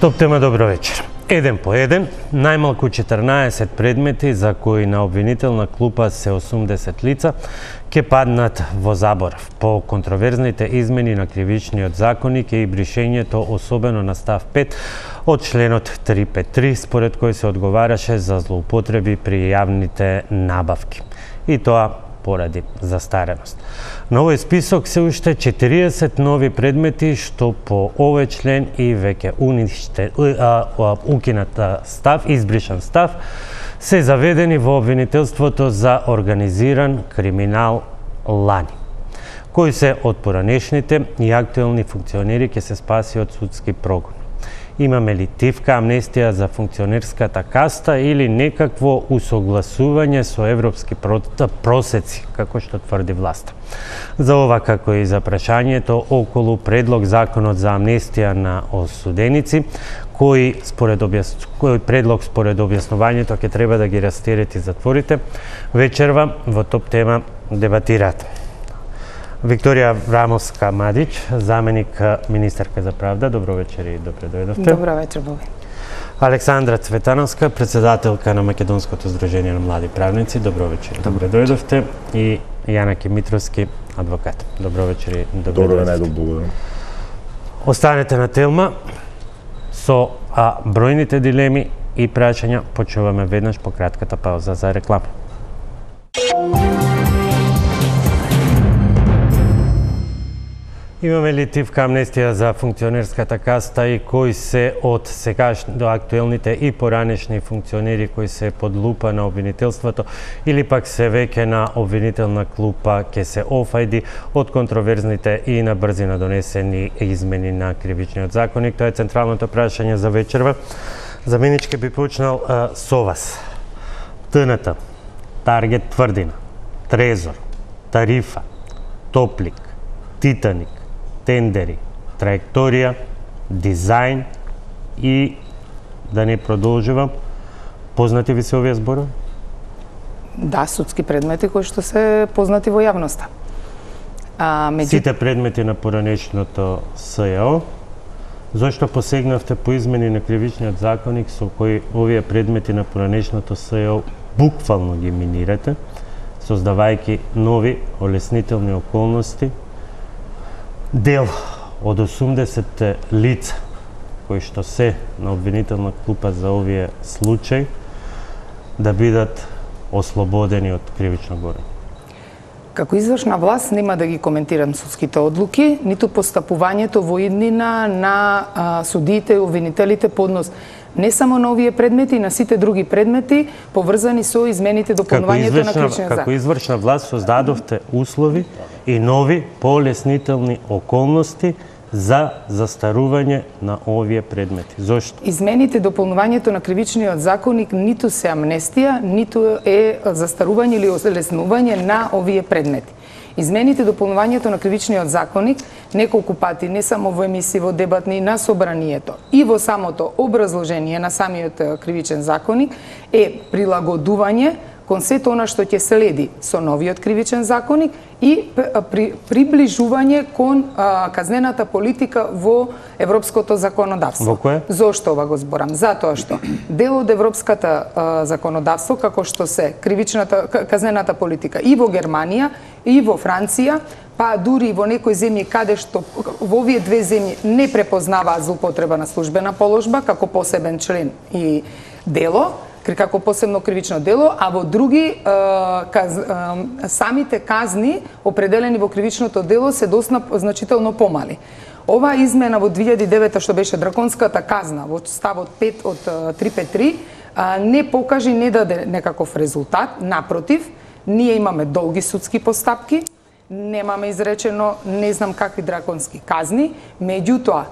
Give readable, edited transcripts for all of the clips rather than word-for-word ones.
Топ тема, добро вечер. Еден по еден, најмалку 14 предмети за кои на обвинителна клупа се 80 лица ќе паднат во заборав по контроверзните измени на кривичниот законник и бришењето особено на став 5 од членот 353, според кој се одговараше за злоупотреби при јавните набавки. И тоа поради застареност. На овој список се уште 40 нови предмети што по овој член и веќе укинат став, избришан став, се заведени во обвинителството за организиран криминал лани, кои се од поранешните и актуелни функционери ќе се спаси од судски прогон. Имаме ли тивка амнестија за функционерската каста или некакво усогласување со европски просеци, како што тврди власта? За ова, како и за прашањето околу предлог законот за амнестија на осуденици, кој предлог според објаснувањето ќе треба да ги растерети затворите, вечерва во топ тема дебатираат Викторија Врамовска-Мадич, заменик министерка за правда. Добро вечер и добре дојдовте. Добро вечер, Боби. Александра Цветановска, председателка на Македонското здружение на млади правници. Добро вечер и добре дојдовте. И Јанаки Митровски, адвокат. Добро вечер и добре дојдовте. Добро, благодарам. Останете на телма со бројните дилеми и прашања. Почуваме веднаш по кратката пауза за реклама. Имаме ли тивка амнестија за функционерската каста и кои се од сегашни до актуелните и поранешни функционери кои се под лупа на обвинителството или пак се веќе на обвинителна клупа ќе се офајди од контроверзните и на брзина донесени измени на кривичниот законник? Тоа е централното прашање за вечерва. Заменички би почнал со вас. ТНТ, Таргет Тврдина, Трезор, Тарифа, Топлик, Титаник, тендери, траекторија, дизајн и да не продолжувам. Познати ви се овие зборови? Да, судски предмети кои што се познати во јавноста. Сите предмети на поранешното СЈО. Зошто посегнавте по измени на кривичниот законник со кои овие предмети на поранешното СЈО буквално ги минирате, создавајќи нови олеснителни околности? Дел од 80 лица кои што се на обвинителна клупа за овие случаи да бидат ослободени од кривично гонење. Како извршна власт нема да ги коментирам судските одлуки, ниту постапувањето во иднина на судиите и обвинителите по однос не само на овие предмети, и на сите други предмети поврзани со измените дополнувањето на кривичниот закон. Како извршна власт создадовте услови и нови полеснителни околности за застарување на овие предмети. Зошто? Измените дополнувањето на кривичниот законник ниту се амнестија, ниту е застарување или олеснување на овие предмети. Измените дополнувањето на кривичниот законник неколку пати, не само во емисии, во дебатни на собранието и во самото образложение на самиот кривичен законник е прилагодување кон сето она што ќе следи со новиот кривичен законник и приближување кон казнената политика во европското законодавство. Во кое? Зошто ова го зборам? Затоа што дел од европската законодавство, како што се казнената политика и во Германија, и во Франција, па дури и во некои земји каде што во овие две земји не препознаваат злоупотреба на службена положба како посебен член и дело, како посебно кривично дело, а во други самите казни определени во кривичното дело се доста значително помали. Оваа измена во 2009 што беше драконската казна во ставот 5 од 353 не покажи, не даде некаков резултат, напротив, ние имаме долги судски постапки, немаме изречено не знам какви драконски казни, меѓутоа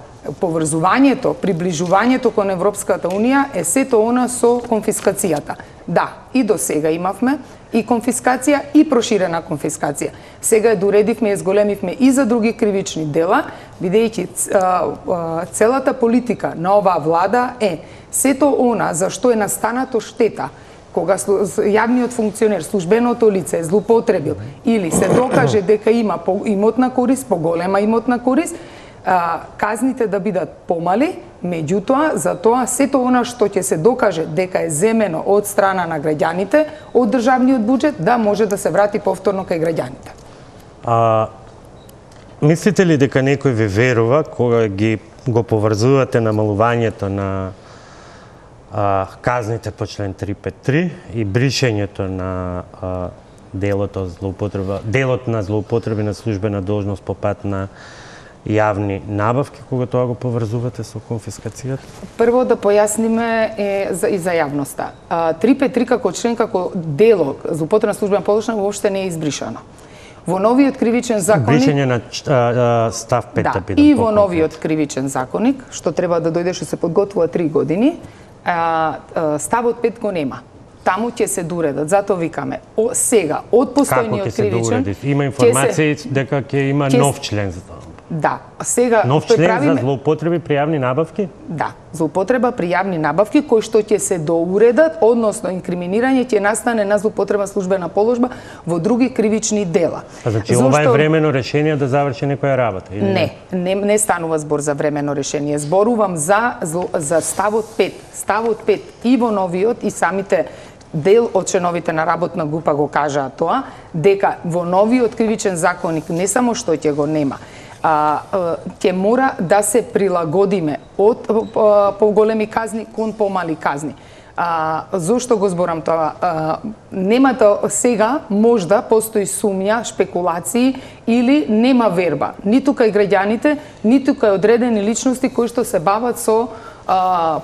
поврзувањето, приближувањето кон Европската Унија е сето она со конфискацијата. Да, и до сега имавме и конфискација и проширена конфискација. Сега доредивме и зголемивме и за други кривични дела, бидејќи целата политика на оваа влада е сето она за што е настанато штета кога јавниот функционер, службеното лице злоупотребил или се докаже дека има имотна корист, поголема имотна корист, казните да бидат помали, меѓутоа, за тоа сето она што ќе се докаже дека е земено од страна на граѓаните, од државниот буџет, да може да се врати повторно кај граѓаните. Мислите ли дека некој ви верува кога го поврзувате намалувањето на казните по член 353 и бришењето на делот на злоупотреби на службена должност по пат на јавни набавки, кога тоа го поврзувате со конфискацијата? Прво да појасниме и за јавноста. 353 како член, како дело злоупотреба на службена должност воопште не е избришано. Во новиот кривичен законник... Бришење на став 5 да биде. И во новиот кривичен законник, што треба да дојде, што се подготвува 3 години, ставот 5 го нема. Таму ќе се доуредат. Затоа викаме, сега, од постојниот кривичен... Како ќе се доуредат? Има информации дека ќе има нов член за тоа. Да, сега нов член за злоупотреби при јавни набавки? Да, злоупотреба при јавни набавки кои што ќе се доуредат, односно инкриминирање ќе настане на злоупотреба службена положба во други кривични дела. Значи ова е времено решение да заврши некоја работа или не станува збор за времено решение. Зборувам за ставот 5. Ставот 5 и во новиот и самите дел од членовите на работна група го кажаа тоа, дека во новиот кривичен законник не само што ќе го нема, ќе мора да се прилагодиме од поголеми казни кон помали казни. Зошто го зборам тоа? Немата сега можда постои сумња, шпекулации или нема верба, ниту кај граѓаните, ниту кај одредени личности кои што се бават со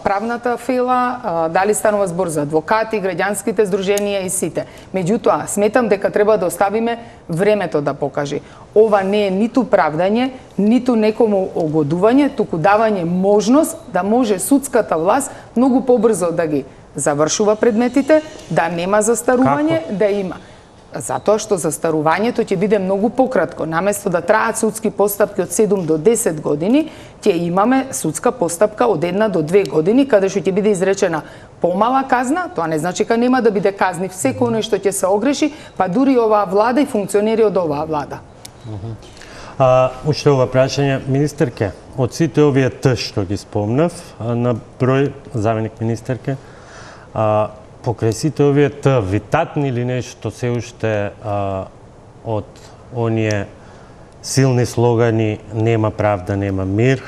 правната фела, дали станува збор за адвокати, граѓанските здруженија и сите. Меѓутоа, сметам дека треба да оставиме времето да покаже. Ова не е ниту правдање, ниту некому огодување, туку давање можност да може судската власт многу побрзо да ги завршува предметите, да нема застарување, да има. Затоа што застарувањето ќе биде многу пократко. Наместо да траат судски постапки од 7 до 10 години, ќе имаме судска постапка од 1 до 2 години, каде што ќе биде изречена помала казна, тоа не значи дека нема да биде казни секој оној што ќе се огреши, па дури оваа влада и функционери од оваа влада. Уште ова прашање, министерке, од сите овие што ги спомнав, на број заменик министерке, покрај сите овие витатни или нешто се уште од оние силни слогани нема правда, нема мир,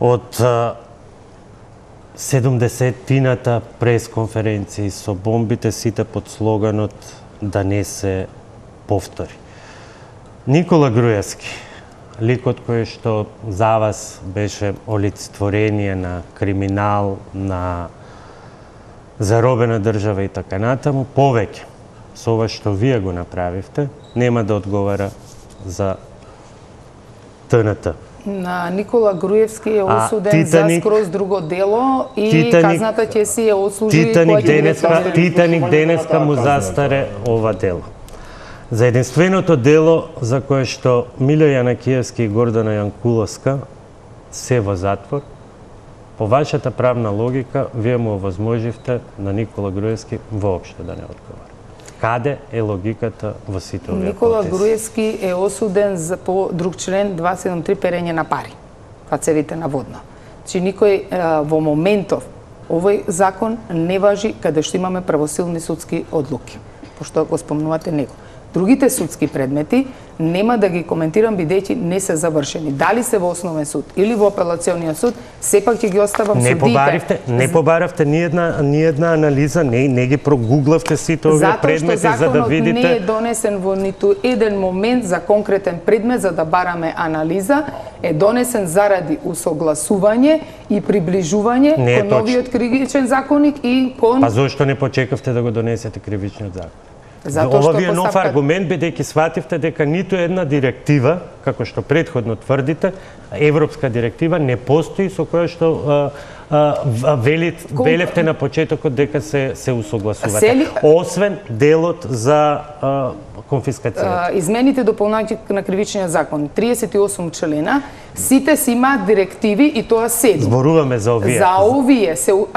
од 70-тината пресконференции со бомбите сите под слоганот да не се повтори. Никола Груевски, ликот кој што за вас беше олицетворение на криминал, на заробена држава и така натаму, повеќе со ова што вие го направивте, нема да одговара за ТНТ. На Никола Груевски е осуден за скроз друго дело и казната ќе си ја отслужи Титаник денеска му застаре ова дело. За единственото дело за кое што Мило Јанакиевски и Гордана Јанкуловска се во затвор, по вашата правна логика, вие му овозможивте на Никола Груевски воопшто да не одговара. Каде е логиката во сите овие Никола Груевски е осуден по друг член 273 перење на пари, цевите на водно. Значи никој во моментов овој закон не важи каде што имаме правосилни судски одлуки, пошто го спомнувате него. Другите судски предмети нема да ги коментирам бидејќи не се завршени. Дали се во основен суд или во апелациониот суд, сепак ќе ги оставам судите. Не побаравте ни една анализа, не ги прогуглавте сите овие предмети за да видите. Затоа што законот не е донесен во ниту еден момент за конкретен предмет за да бараме анализа, е донесен заради усогласување и приближување кон новиот кривичен законник и кон... Па зошто не почекавте да го донесете кривичниот закон? Ова ви е нов аргумент, бидејќи свативте дека ниту една директива, како што претходно тврдите, европска директива не постои со која што велевте на почетокот дека се усогласувате, освен делот за конфискацијата. Измените дополнување на кривичниот закон, 38 члена, сите си имаат директиви и тоа 7. Зборуваме за овие. За овие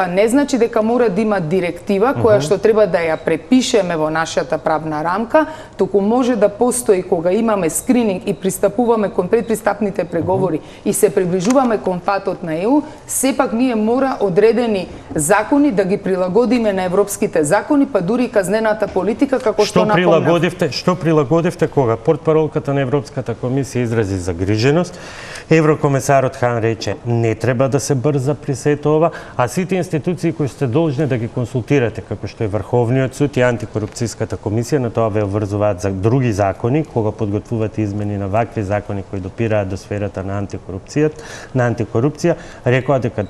не значи дека мора да има директива која што треба да ја препишеме во нашата правна рамка, туку може да постои кога имаме скрининг и стапуваме кон предпристапните преговори и се приближуваме кон патот на ЕУ, сепак ние мора одредени закони да ги прилагодиме на европските закони, па дури и казнената политика, како што напомнав. Што прилагодивте кога портпаролката на Европската комисија изрази загриженост, еврокомесарот Хан рече не треба да се брза при сето ова, а сите институции кои сте должни да ги консултирате, како што е Врховниот суд и антикорупцијската комисија, на тоа ве обврзуваат за други закони, кога подготвувате измени на вакви закони кои допираат до сферата на антикорупција, рекоа дека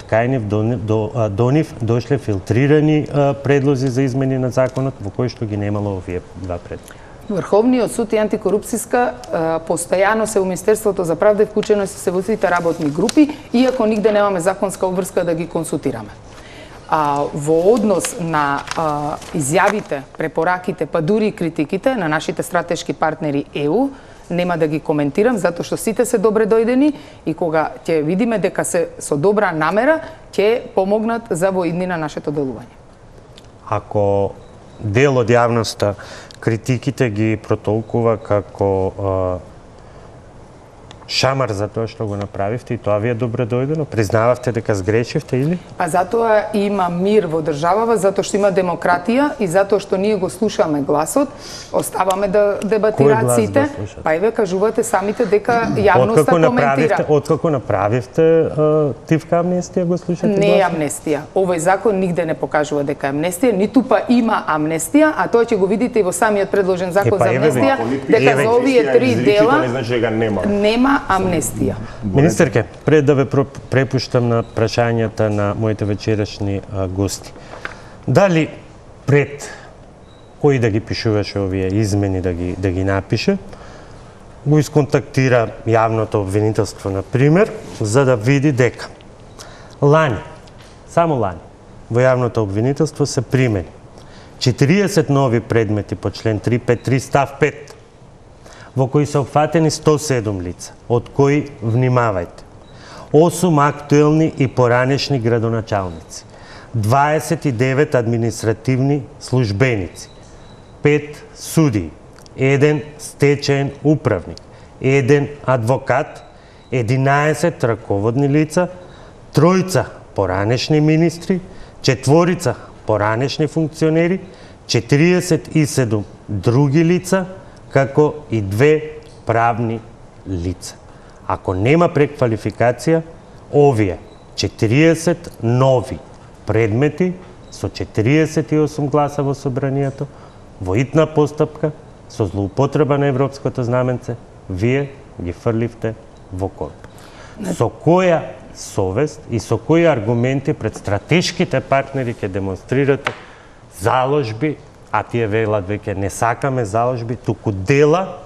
до нив дошле филтрирани предлози за измени на законот, во кои што ги немало овие два предлога. Врховниот суд и антикорупцијска постојано се во Министерството за правда вклучено се во сите работни групи, иако нигде немаме законска обврска да ги консултираме. Во однос на изјавите, препораките, па дури и критиките на нашите стратешки партнери ЕУ, нема да ги коментирам, затоа што сите се добре дојдени и кога ќе видиме дека се со добра намера, ќе помогнат за во иднина нашето делување. Ако дел од јавноста критиките ги протолкува како шамар за тоа што го направивте и тоа ви е добре дојдено? Признававте дека сгрешивте или? А затоа има мир во државава, затоа што има демократија и затоа што ние го слушаме гласот, оставаме да дебатираат сите, па еве кажувате самите дека јавноста коментира. Откако направивте тивка амнестија го слушате гласот? Не е амнестија. Овој закон нигде не покажува дека е амнестија, ниту па има амнестија, а тоа ќе го видите и во самиот предложен закон за амнестија, дека за овие три дела нема амнестија. Министерке, пред да ве препуштам на прашањата на моите вечерашни гости, дали пред кој да ги пишуваше овие измени да ги напише, го исконтактира јавното обвинителство, на пример, за да види дека лани, само лани, во јавното обвинителство се примени 40 нови предмети по член 353 став 5, во кои се опфатени 107 лица, од кои, внимавајте, 8 актуелни и поранешни градоначалници, 29 административни службеници, 5 судии, 1 стечаен управник, 1 адвокат, 11 раководни лица, 3 поранешни министри, 4 поранешни функционери, 47 други лица, како и 2 правни лица. Ако нема преквалификација, овие 40 нови предмети со 48 гласа во собранието, во итна постапка, со злоупотреба на европското знаменце, вие ги фрливте во корп. Со која совест и со кои аргументи пред стратешките партнери ќе демонстрирате заложби, а тие велат веќе не сакаме заложби, туку дела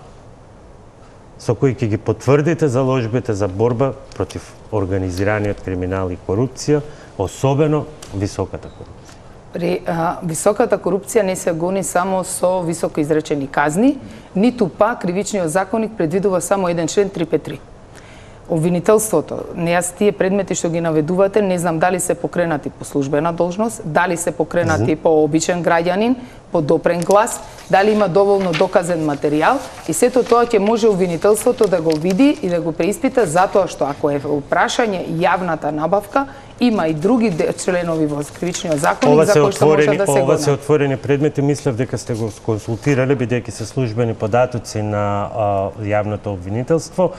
со кои ќе ги потврдите заложбите за борба против организираниот криминал и корупција, особено високата корупција. Високата корупција не се гони само со високо изречени казни, ниту па кривичниот законник предвидува само еден член 353. Обвинителството, тие предмети што ги наведувате, не знам дали се покренати по службена должност, дали се покренати по обичен граѓанин, по допрен глас, дали има доволно доказен материјал и сето тоа ќе може обвинителството да го види и да го преиспита, затоа што ако е прашање јавната набавка, има и други членови во кривичниот законник за кои што може да се гонат. Ова се отворени предмети, мислев дека сте го консултирале, бидејќи се службени податоци на јавното обвинителство,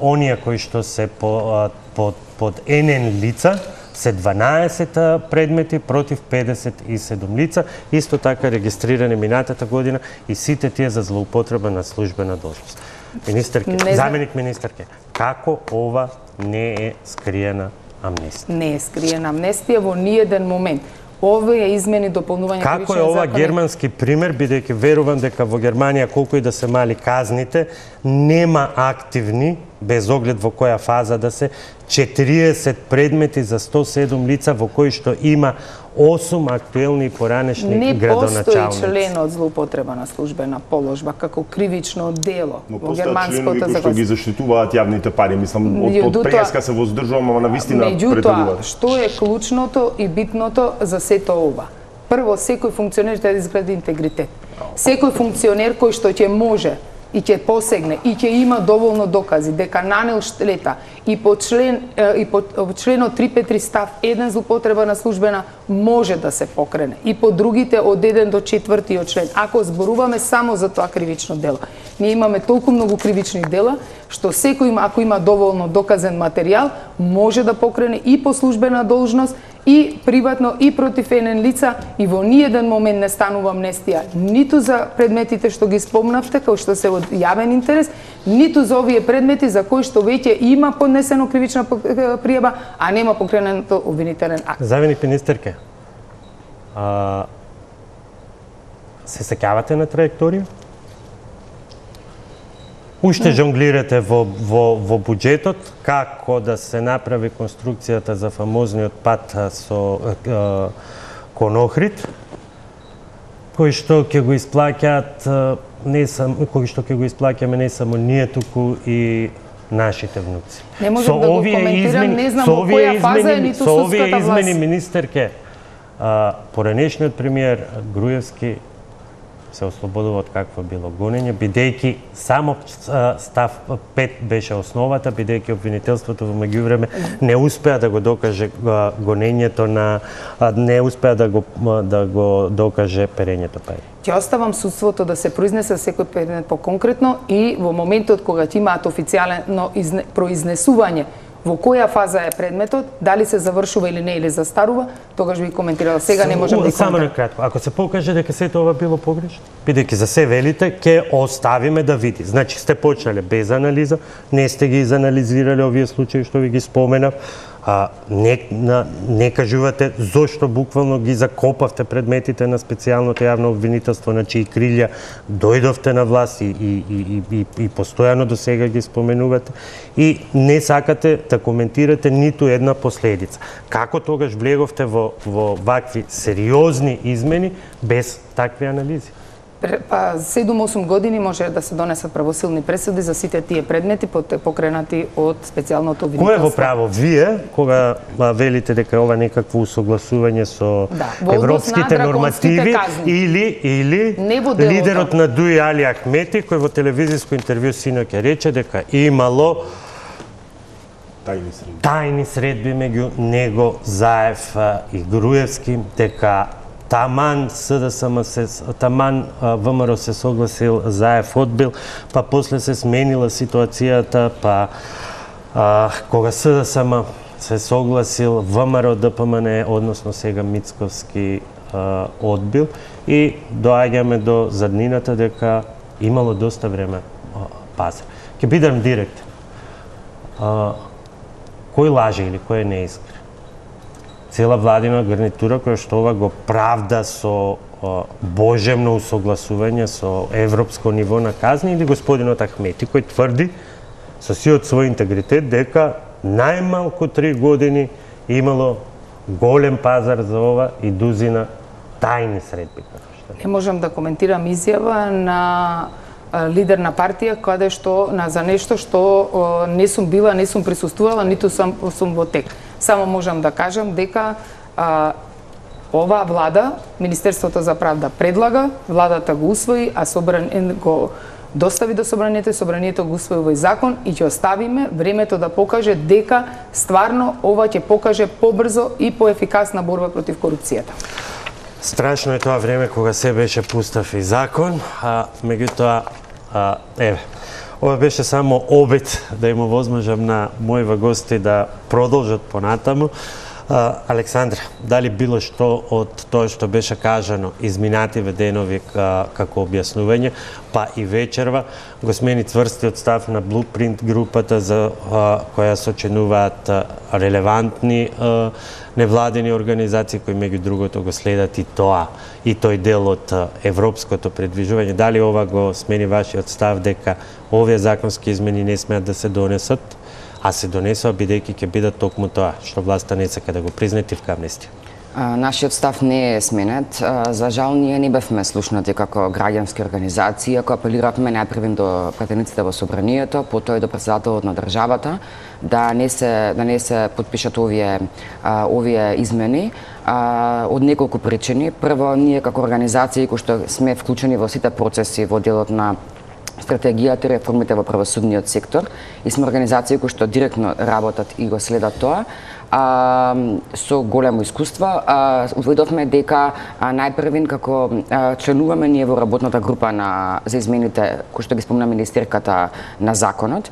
оние кои што се под енен лица, се 12 предмети против 57 лица, исто така регистрирани минатата година и сите тие за злоупотреба на службена должност. Министерке, заменик министерке, како ова не е скриена амнестија? Не е скриена амнестија во ниеден момент. Овие измени дополнување кривичниот законник. Како е ова германски пример, бидејќи верувам дека во Германија колку и да се мали казните, нема активни, без оглед во која фаза да се, 40 предмети за 107 лица во кои што има 8 актуелни и поранешни градоначалници. Не постои член од злоупотреба на службена положба како кривично дело во германското законодавство. Но што ги заштитуваат јавните пари, мислам, од преска се воздržувам, ама навистина претегуваат. Меѓутоа, што е клучното и битното за сето ова? Прво, секој функционер треба да изгради интегритет. Секој функционер кој што ќе може и ќе посегне и ќе има доволно докази дека нанел штета и по членот 353 став 1 злоупотреба на службена може да се покрене и по другите од 1 до 4 член. Ако зборуваме само за тоа кривично дело, ние имаме толку многу кривични дела што секој ако има доволно доказен материјал може да покрене и по службена должност и приватно и против еден лица и во ниеден момент не станува амнестија ниту за предметите што ги спомнавте како што се од јавен интерес, ниту за овие предмети за кои што веќе има поднесено кривична пријава, а нема покренато обвинителен акт. Заменик министерке, се сеќавате на траекторија? Уште жонглирате во буџетот како да се направи конструкцијата за фамозниот пат со кон Охрид, кој што ќе го исплаќаат кој што ќе го исплаќаме не само ние, туку и нашите внуци. Не можам да го коментирам, не знам во која фаза е ниту судската власт. Со овие измени, министерке, поранешниот премиер Груевски се ослободува од какво било гонење, бидејќи само став 5 беше основата, бидејќи обвинителството во меѓувреме не успеа да го докаже гонењето не успеа да го докаже перењето пари. Ќе оставам судството да се произнесе секој предмет по-конкретно и во моментот кога ќе имаат официјално произнесување во која фаза е предметот, дали се завршува или не или застарува, тогаш би коментирала. Сега не можам да коментирам. Само накратко, ако се покаже дека сето ова било погрешно, бидејќи за се велите, ќе оставиме да види. Значи сте почнале без анализа, не сте ги изанализирале овие случаи што ви ги споменав, не кажувате зошто буквално ги закопавте предметите на специјалното јавно обвинителство, на чии крилја дојдовте на власт и постојано до сега ги споменувате и не сакате да коментирате ниту една последица. Како тогаш влеговте во вакви сериозни измени без такви анализи? Па 7-8 години може да се донесат правосилни пресуди за сите тие предмети покренати од специјалното обвинителство. Кој е во право? Вие, кога велите дека ова некакво усогласување со европските нормативи или лидерот на ДУИ Али Ахмети, кој во телевизиско интервју синоќа рече дека имало тајни средби меѓу него, Заев и Груевски, дека таман ВМРО се согласил, Заев одбил, па после се сменила ситуацијата, па кога СДСМ се согласил, ВМРО ДПМН, односно сега Мицковски одбил и доаѓаме до заднината дека имало доста време пазар. Ќе бидам директен. Кој лаже или кој е неискрен? Цела владина гарнитура која што ова го правда со божемно усогласување со европско ниво на казни или господинот Ахмети кој тврди со сиот свој интегритет дека најмалку 3 години имало голем пазар за ова и дузина тајни средби. Не можам да коментирам изјава на лидер на партија каде што за нешто што не сум била, не сум присуствувала, ниту сум во тек. Само можам да кажам дека оваа влада, Министерството за правда предлага, владата го усвои, а го достави до собранието и собранието го усвои овој закон и ќе оставиме времето да покаже дека стварно ова ќе покаже побрзо и поефикасна борба против корупцијата. Страшно е тоа време кога се беше пустав и закон, меѓутоа ова беше само обид да им овозможам на мојива гости да продолжат понатаму. Александра, дали било што од тоа што беше кажано изминативе денови како објаснување, па и вечерва, го смени цврстиот став на Blueprint групата за која сочинуваат релевантни невладени организации кои меѓу другото го следат и тој дел од европското предвижување. Дали ова го смени вашиот став дека овие законски измени не смеат да се донесат, а се донесува бидејќи ќе бидат токму тоа што власта не сака да го призне тивка амнестија? Нашиот став не е сменет. За жал, ние не бевме слушнати како граѓански организации, ако апелиравме најпрвен до пратениците во собранието, потоа и до председателот на државата, да не се потпишат овие измени од неколку причини. Прво, ние како организации кои што сме вклучени во сите процеси во делот на стратегијата и реформите во правосудниот сектор и сме организации кои што директно работат и го следат тоа. Со големо искуство. Увидовме дека најпрвин како членуваме ние во работната група за измените кои што ги спомна министерката на законот,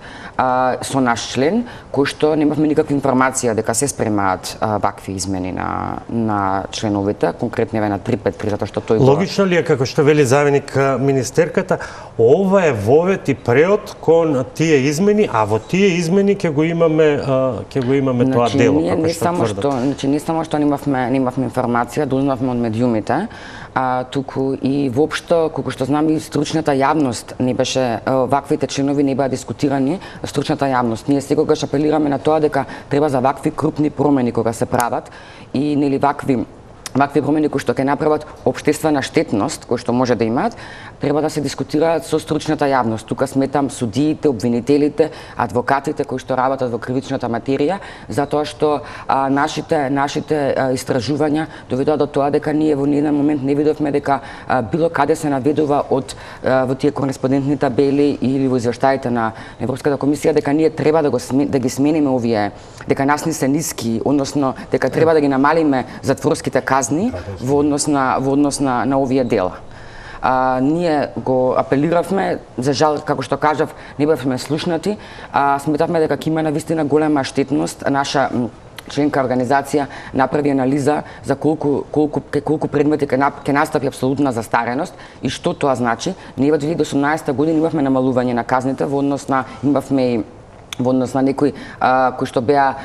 со наш член, кој што немавме никаква информација дека се спремаат вакви измени на членовите, конкретно на 353, затоа што тој логично ли е, како што вели заменик министерката, ова е вовет и преод кон тие измени, а во тие измени ќе го имаме тоа дело. Не само што немавме информација, дознавме од медиумите, туку и воопшто, колку што знам, и стручната јавност не беше, ваквите членови не беа дискутирани, стручната јавност. Ние секогаш апелираме на тоа дека треба за вакви крупни промени кога се прават и нели вакви промени кои што ќе направат општествена штетност, кои што може да имаат, треба да се дискутираат со стручната јавност. Тука сметам судиите, обвинителите, адвокатите кои што работат во кривичната материја, затоа што нашите истражувања доведоа до тоа дека ние во ниеден момент не видовме дека било каде се наведува во тие кореспондентни табели или во извештаите на Европската комисија дека ние треба да ги смениме овие, дека нас не се ниски, односно дека треба да ги намалиме затворските казни во однос на овие дела. Ние го апелиравме, за жал, како што кажав, не бевме слушнати, сметавме дека ќе има навистина голема штетност. Наша членка организација направи анализа за колку предмети ќе настапи апсолутна застареност и што тоа значи. Ние во 2018 година имавме намалување на казните во однос на некои кои што беа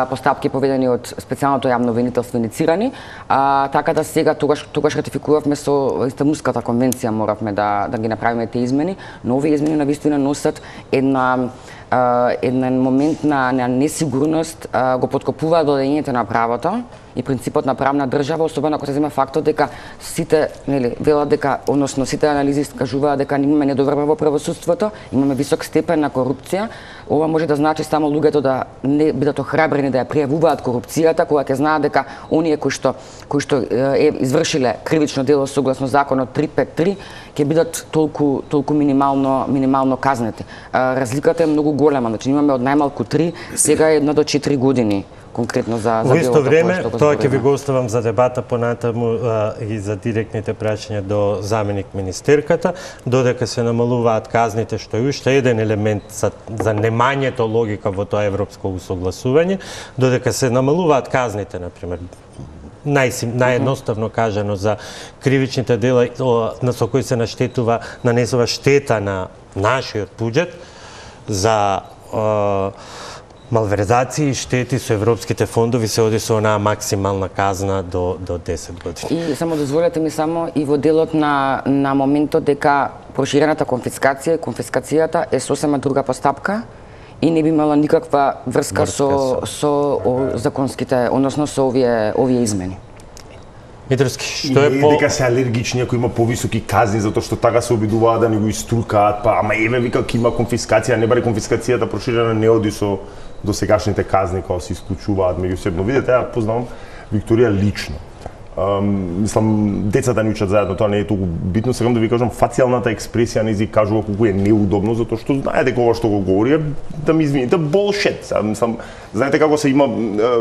постапки поведени од специјалното јавно обвинителство иницирани, така да сега тогаш ратификувавме со Истанбулската конвенција, моравме да ги направиме тие измени, но овие измени навистина носат еден момент на несигурност, го поткопуваат владењето на правото и принципот на правна држава, особено ако се зема фактот дека сите, велат дека, односно сите анализи кажуваат дека имаме недоврба во правосудството, имаме висок степен на корупција. Ова може да значи само луѓето да не бидат охрабрени да ја пријавуваат корупцијата, кога ќе знаат дека оние кои што извршиле кривично дело согласно законот 353 ќе бидат толку минимално казнети. Разликата е многу голема, значи имаме од најмалку 3, сега е 1 до 4 години. Конкретно за во исто време, тоа ќе ви го оставам за дебата понатаму и за директните прашања до заменик министерката, додека се намалуваат казните, што е уште еден елемент за немањето логика во тоа европско усогласување, додека се намалуваат казните, например, наједноставно кажано за кривичните дела со кои се нанесува штета на нашиот буџет, за малверзации и штети со европските фондови се оди со онаа максимална казна до 10 години. И само дозволете ми и во делот на моментот дека проширената конфискацијата е сосема друга постапка и не би имала никаква врска со законските, односно со овие измени. Митровски, што е дека се алергични ако има повисоки казни затоа што така се обидуваат да ни го иструкаат, ама вика ќе има конфискација, не баре конфискацијата проширена не оди со досегашните казни кога се исклучуваат меѓусебно. Видете, ја познавам Викторија лично. Мислам, децата ни учат заедно, тоа не е толку битно. Сакам да ви кажам, фацијалната експресија низи кажува колку е неудобно, затоа што знае дека ова што го говори, да ми извините, болшет. Мислам, знаете како се има,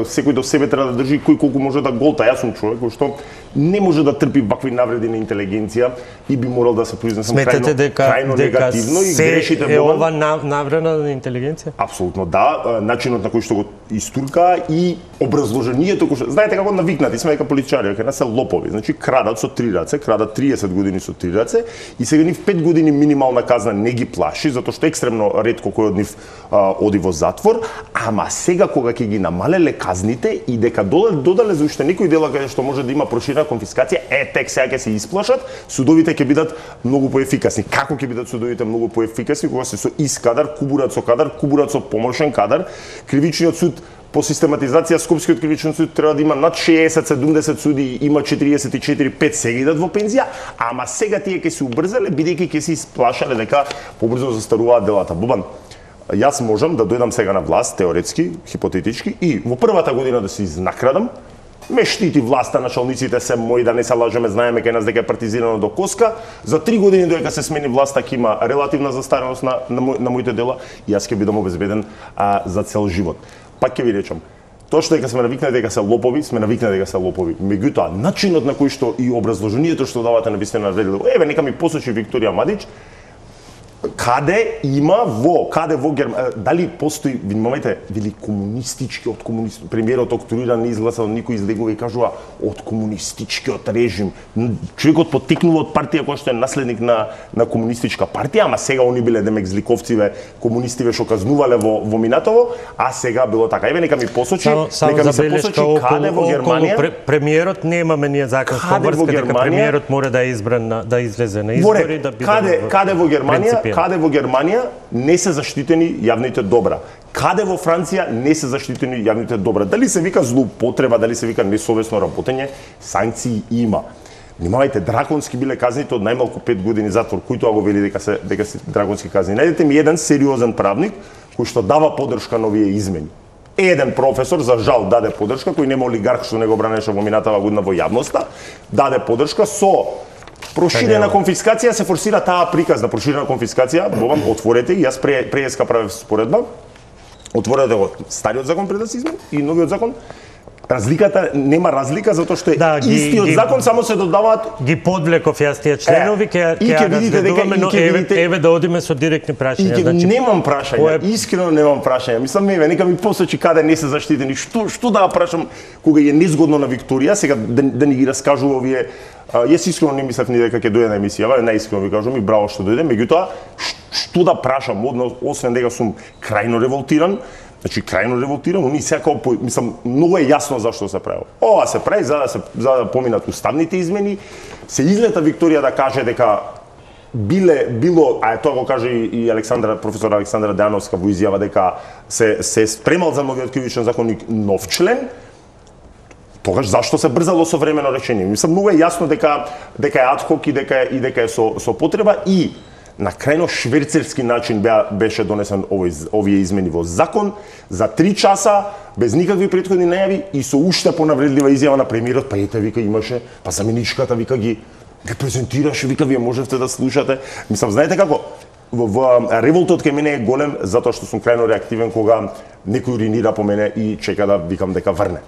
секој до себе треба да држи кој колку може да голта. Јас сум човек кој што не може да трпи вакви навреди на интелигенција и би морал да се произнесам крајно негативно и грешите е ова навреда на интелигенција? Апсолутно да, начинот на кој што го истурка и образложението кој што знаете како навикнати сме дека политичари кај нас се лопови, значи крадат со 3 раце, крадат 30 години со 3 раце и сега нив 5 години минимална казна не ги плаши затоа што екстремно ретко кој од нив оди во затвор, ама сега кога ќе ги намалеле казните и дека додале за уште некои дела каде што може да има проширена конфискација, тек сега ќе се исплашат, судовите ќе бидат многу поефикасни. Како ќе бидат судовите многу поефикасни кога се со искадар, кубурат со помошен кадар, кривичниот суд по систематизација Скопскиот кривичен суд треба да има над 60-70 суди, има 44-5 сега идат во пензија, ама сега тие ќе се убрзале бидејќи ќе се исплашале дека побрзо застаруваат делата. Бобан, јас можам да дојдам сега на власт, теоретски, хипотетички, и во првата година да се изнакрадам, ме штити власта, началниците се мои, да не се лажеме, знаеме кај нас дека е партизирано до коска. За 3 години додека се смени власта ќе има релативна застареност на моите дела и јас ќе бидам обезбеден за цел живот. Пак ќе ви речам, тоа што дека сме навикнати дека се лопови, сме навикнати дека се лопови. Меѓутоа, начинот на кој што и образложението што давате на вистина еве нека ми посочи Викторија Мадич, каде во Германија, дали постои, внимавајте, вели комунистичкиот премиерот октуиран изгласал, никој излегува и кажува од комунистичкиот режим. Човекот потекнува од партија која што е наследник на комунистичка партија, ама сега они биле демек зликовциве, комунистиве што казнувале во минатово, а сега било така. Еве нека ми посочи, нека ми се посочи каде во Германија. Премиерот немаме ние законска обврска дека премиерот мора да е избран да излезе на избори да биде. Каде во Германија не се заштитени јавните добра? Каде во Франција не се заштитени јавните добра? Дали се вика злоупотреба, дали се вика несовесно работење, санкции има. Внимавајте, драконски биле казните од најмалку 5 години затвор, кој тоа го вели дека се драконски казни. Најдете ми еден сериозен правник кој што дава поддршка на овие измени. Еден професор, за жал, даде поддршка, кој нема олигарх што не го бранеше во минатава година во јавноста, даде поддршка со проширена конфискација, се форсира таа приказна проширена конфискација. Бобам, отворете, јас преска правев споредба. Отворете го стариот закон пред да се измени и новиот закон. Разликата нема разлика затоа што е истиот закон, само се додаваат. Ги подвлеков јас тие членови, ќе разгледуваме, но еве да одиме со директни прашања. Значи немам прашања, искрено немам прашања. Мислам еве нека ми посочи каде не се заштитени. Што да прашам кога е незгодно на Викторија, сега да ни ги раскажува овие. Јас искрено не мислев ни дека ќе дојде на емисија, најискрено ви кажувам и браво што дојде, меѓутоа што да прашам, освен дека сум крајно револтиран, значи крајно револтиран, уни секако мислам многу е јасно зашто се прави. Ова се прави за да поминат уставните измени, се излета Викторија да каже дека било, а тоа го каже и професор Александра Дејановска во изјава дека се спремал за новиот кривичен законник нов член. Тогаш зашто се брзало со времено решение? Мислам многу е јасно дека е адхок и дека е со потреба и на крајно шверцерски начин беше донесен овие измени во закон за 3 часа без никакви претходни најави и со уште понавредлива изјава на премиерот, па ете вика имаше, па заменичката вика ги презентираше, вика вие можевте да слушате. Мислам знаете како револтот кај мене е голем затоа што сум крајно реактивен кога некој уринира по мене и чека да викам дека врне.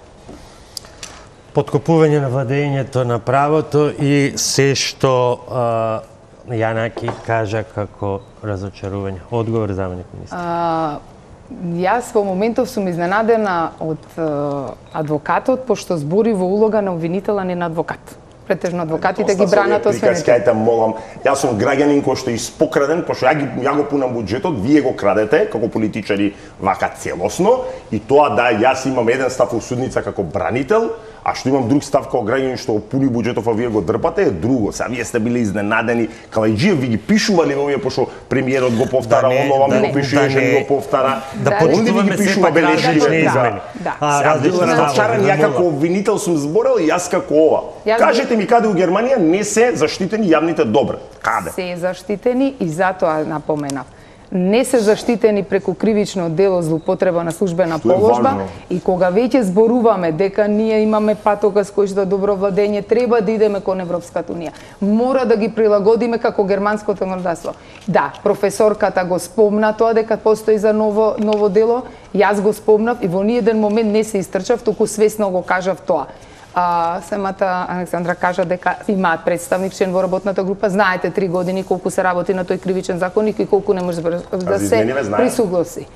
Подкопување на владењето на правото и се што Јанаки кажа како разочарување. Одговор, заменик министар. Јас во моментов сум изненадена од адвокатот, пошто збори во улога на обвинител, а не на адвокат. Претежно адвокатите ги бранат освенете. Скајте, молам, јас сум граѓанин кој што е испокраден, пошто ја го пунам буџетот, вие го крадете како политичари вака целосно и тоа да јас имам еден став во судница како бранител, а што имам друг став како граѓанин што пуни буџетов, а вие го дрпате, е друго. Сега вие сте били изненадени, Калајџиев ви ги пишували овие, пошто премиерот го повтара, онова ми го пишуваше, ми го повтара. Да почитуваме сепак различни измени. Разочаран, ја како обвинител сум зборел и јас како ова. Кажете ми каде у Германија не се заштитени јавните добра? Каде? Се заштитени и затоа напоменав. Не се заштитени преку кривично дело злоупотреба на службена положба и кога веќе зборуваме дека ние имаме патокас кој што добро владење, треба да идеме кон Европската унија. Мора да ги прилагодиме како германското законодавство. Да, професорката го спомна тоа дека постои за ново дело, јас го спомнав и во ниеден момент не се истрчав, туку свесно го кажав тоа. Самата Александра кажа дека имаат представник член во работната група. Знаете 3 години колку се работи на тој кривичен законник и колку не може да се присугласи.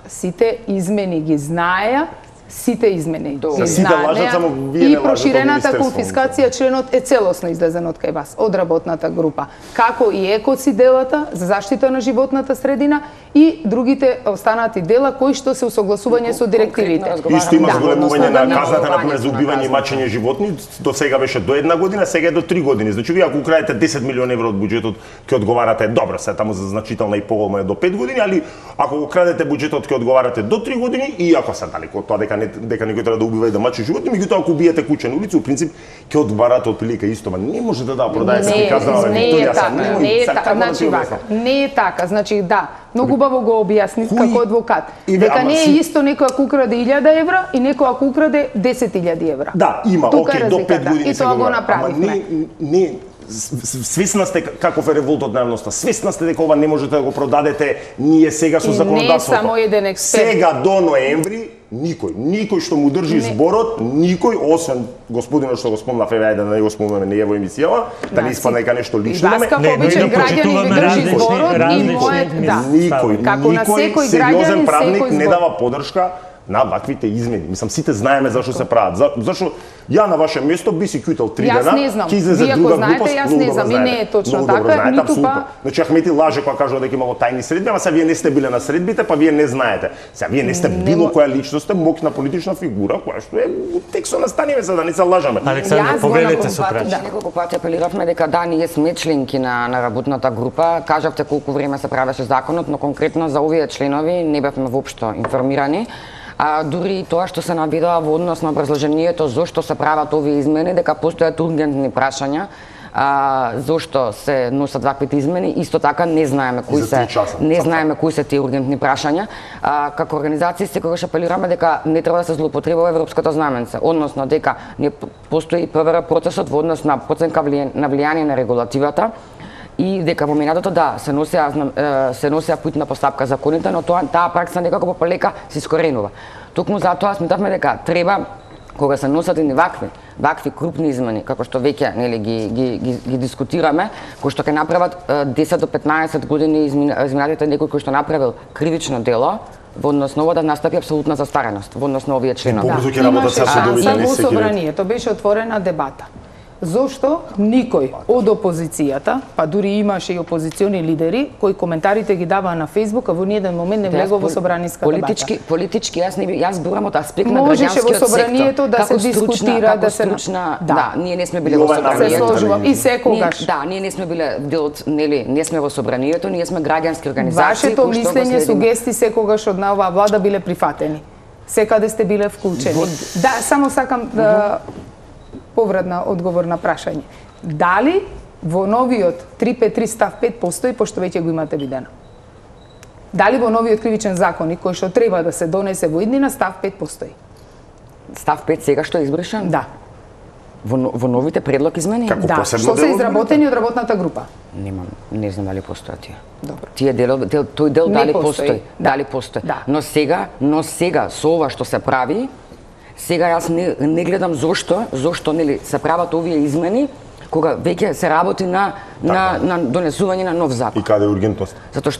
Сите измени ги знаеа, сите измени ги знаеа и проширената конфискација членот е целосно излезен од кај вас, од работната група. Како и екоци делата за заштита на животната средина и другите останати дела кои што се усогласување со директивите. Исто има зголемување на казната например за убивање и мачење животни, до сега беше до 1 година, сега е до 3 години. Значи вие ако украдете 10 милиони евро од буџетот, ќе одговарате добро, се таму за значителна и поголема е до 5 години, али ако го крадете буџетот ќе одговарате до 3 години и ако се далеко од тоа дека дека некој треба да убива и да мачи животни, меѓутоа ако убиете кучен улици, во принцип ќе одбарате отприлика исто, ма не можете да продаете се казано не е така, значи вака, не е така, значи да, многу убаво го објасни како адвокат. Дека не е исто некој ако украде 1000 евра и некој ако украде 10.000 евра. Да, има, окей, до 5 години и тоа го направивме. Ама не свесна сте каков е револтот на јавноста, свесна сте дека ова не можете да го продадете, ние сега со законодавството. Не само еден експерт. Сега до ноември никој што му држи зборот, никој освен господинот што го спомнав, еве да не го спомнеме не е во емисијава, да не испадне дека нешто лично имаме. Како обичен граѓанин ви држи зборот и мојот, да. Никој сериозен правник не дава подршка на ваквите измени. Мислам, сите знаеме зашто се прават. Зашто ја на ваше место би си кјутел 3 дена, ќе излезе друга глупост. Јас не знам, и не е точно така, ниту па... Значи Ахмети лаже кога кажува дека имало тајни средби, ама сега вие не сте биле на средбите, па вие не знаете. Сега вие не сте било која личност, сте моќна политична фигура, која што е текстот на станиве, за да не се лажаме. Александр, повелете со прашање. Неколку пати апелиравме дека да, ние сме членки на работната група. Кажавте колку време се правеше законот, но конкретно за овие членови не бевме воопшто информирани. Дури и тоа што се наведува во однос на образложението зошто се прават овие измени, дека постојат ургентни прашања, зошто се носат ваквите измени, исто така не знаеме кои се тие ургентни прашања. Како организација секогаш апелираме дека не треба да се злоупотребува европското знаменце, односно дека не постои ПВР процесот во однос на проценка на влијание на регулативата, и дека во минатото да се носеа путна постапка законите, но таа пракса некако полека се искоренува. Токму затоа сметавме дека треба кога се носат и вакви крупни измени, како што веќе нели ги дискутираме, кои што ќе направат 10 до 15 години изминатите некој кој што направил кривично дело, во однос на ова да настапи апсолутна застареност во однос на овие членови. Во собранието беше отворена дебата. Зошто никој од опозицијата, па дури имаше и опозициони лидери, кои коментарите ги даваа на Фејсбук, а во ниеден момент не влегува во собраниска дебата. Политички јас зборам од аспект на граѓанскиот сектор. Можеше во собранието да се дискутира, да се да, ние не сме биле во собранието. Се сложувам и секогаш. Да, ние не сме биле дел од, нели, не сме во собранието, ние сме граѓански организации. Вашето мислење, сугести секогаш од оваа влада биле прифатени. Секаде сте биле вклучени. Да, само сакам да повратна одговор на прашање. Дали во новиот 353 став 5 постои, пошто веќе го имате видено? Дали во новиот кривичен законник, кој што треба да се донесе во иднина, став 5 постои? Став 5 сега што е избришан? Да. Во новите предлог измени? Да, што се изработени од работната група? Не знам дали постојат тие. Добро. Тој дел дали постои? Дали постои? Но сега со ова што се прави, сега јас не гледам зошто нели се прават овие измени кога веќе се работи на донесување на нов закон. И каде е ургентност? Затоа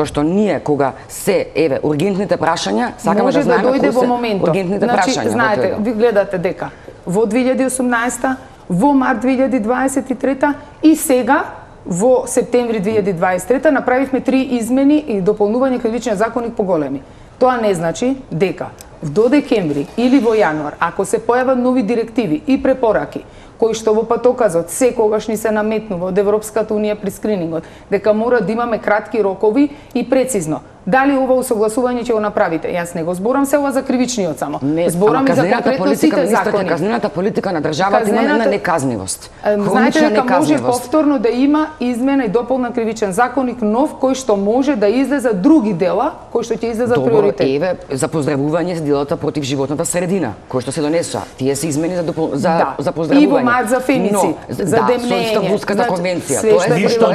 што ние кога се ургентните прашања, сакаме да знаеме кои се ургентните прашања. Знаете, ви гледате дека во 2018, во март 2023 и сега во септември 2023 направивме 3 измени и дополнување кривичен законник поголеми. Тоа не значи дека до декември или во јануар, ако се појават нови директиви и препораки, кои што во патоказот секогаш ни се наметнува од Европската унија при скринингот, дека мора да имаме кратки рокови и прецизно. Дали ова усогласување ќе го направите? Јас не го зборам се ова за кривичниот само. Зборам и за конкретно сите закони. Казнената политика на државата има една неказнивост. Знаете дека може повторно да има измена и дополна кривичен законник нов кој што може да излезе други дела кои што ќе излезат приоритет. Еве за поздравување за делата против животната средина, кои што се донесоа. Тие се измени за поздравување. И во март за фемицид, за демнење, со Истанбулската конвенција.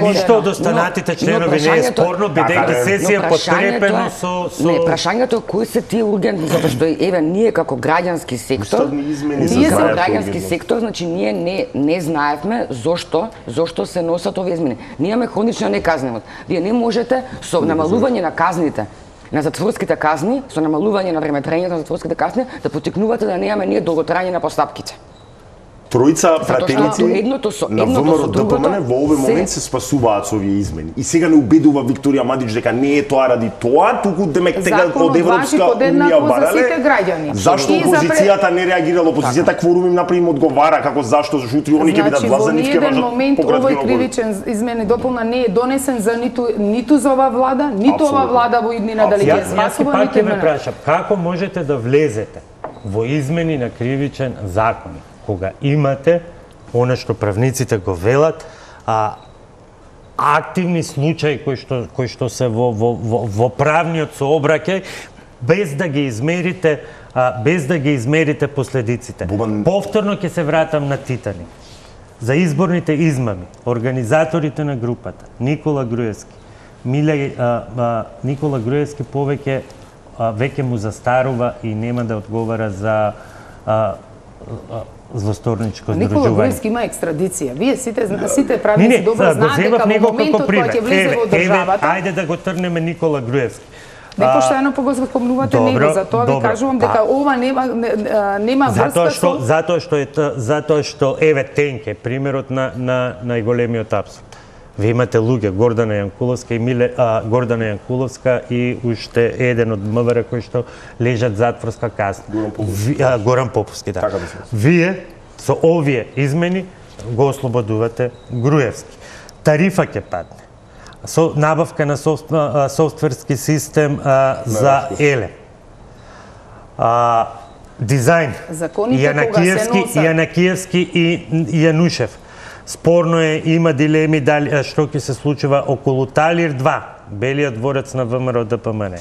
Ништо од останатите членови не е спорно, бидејќи сесија подкрепено со... Не, прашањето кои се тие ургентни, затоа што еве ние како граѓански сектор, значи ние не знаевме зошто се носат овие измени. Ние имаме хронична неказнивост. Вие не можете со намалување на казните, на затворските казни, со намалување на времетрањето на затворските казни, да поттикнувате да немаме ние долготрање на постапките. тројца пратеници на ВМРО ДПМН во овој момент се спасуваат со овие измени. И сега не убедува Викторија Мадич дека не е тоа ради тоа, туку демек тега од Европска унија барале. Зашто опозицијата не реагирала? Опозицијата кворум им направи им одговара како зашто утре они ќе бидат власт за нив ќе важат момент овој кривичен измени допълна не е донесен за ниту за ова влада, ниту ова влада во иднина дали ќе спасува, ниту ме прашам, како можете да влезете во измени на кривичен закон кога имате она што правниците го велат, активни случаи кои што се во правниот сообраќај без да ги измерите последиците. Повторно ќе се вратам на Титаник. За изборните измами, организаторите на групата, Никола Груевски, Никола Груевски веќе му застарува и нема да одговара за злосторничко здружување. Никола Груевски има екстрадиција. Вие сите правници добро знаат дека во моментот кога ќе влезе во државата... Ајде да го трнеме Никола Груевски. Непоштено го спомнувате него, затоа ви кажувам дека ова нема врска со... Затоа што еве Тенке, примерот на најголемиот апсурд. Ви имате луѓе, Гордана Јанкуловска и уште еден од МВР кои што лежат затворска казна. Горан Поповски, да. Вие со овие измени го ослободувате Груевски. Тарифа ќе падне. Со набавка на софтверски систем за Еле. Дизајн. Јанакиевски и Јанушев. Спорно е, има дилеми дали што ќе се случува околу Талир 2, белиот дворец на ВМРО ДПМН.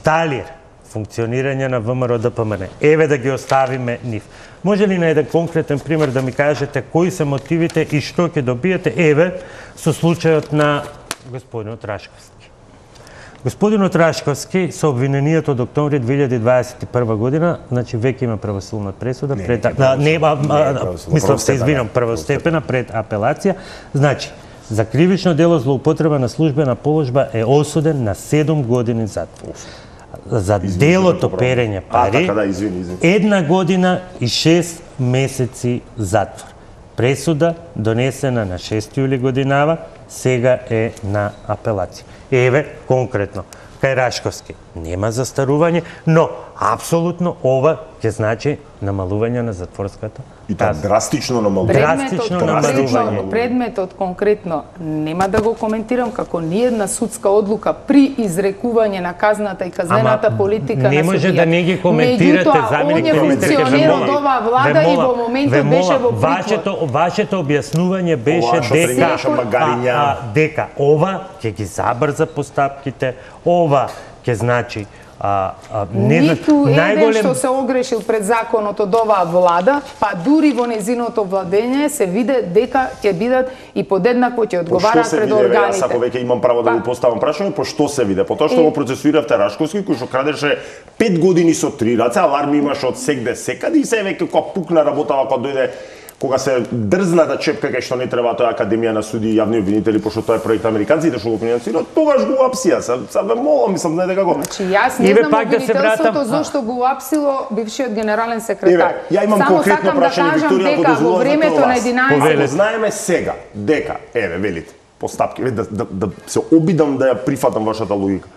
Талир, функционирање на ВМРО ДПМН. Еве да ги оставиме нив. Може ли на еден конкретен пример да ми кажете кои се мотивите и што ќе добиете, еве, со случајот на господинот Рашковски? Господинот Рашковски со обвинението од октомври 2021 година, значи веќе има правосудна пресуда мислам се извинам, првостепена пред апелација, значи за кривично дело злоупотреба на службена положба е осуден на 7 години затвор. За делото перење пари 1 година и 6 месеци затвор. Пресуда донесена на 6 јули годинава, сега е на апелација. Еве, конкретно, кај Рашковски нема застарување, но апсолутно ова ќе значи намалување на затворската и тоа драстично намалување. Предметот конкретно нема да го коментирам како ниедна судска одлука при изрекување на казната и казнената политика на судија. Не може да не ги коментирате, заменик министер, функционер од оваа влада и во моментот беше во притвор. Вашето објаснување беше дека ова ќе ги забрза постапките, ова ќе значи ниту еден што се огрешил пред законот од оваа влада, па дури во незиното владење се виде дека ќе бидат и подеднакво ќе одговараат пред органите. Јас ако веќе имам право да го поставам прашање, по што се виде? По тоа што го процесуиравте Рашковски, кој што крадеше 5 години со 3 раце, аларми имаше од сегде секаде и се веќе кога пукна работава, кога дојде кога се дрзна да чепка кај што не треба тоа Академија на суди и јавни обвинители, пошто тоа е проект американците што го финансираат, тогаш го апсија. Са ве молам, мислам, знаете како. Значи јас не знам обвинителството зошто го апсило бившиот генерален секретар. Ја имам конкретно прашање, Викторија, ако дозволувате времето на 11. Знаеме сега дека, еве, велите, постапки, да се обидам да ја прифатам вашата логика.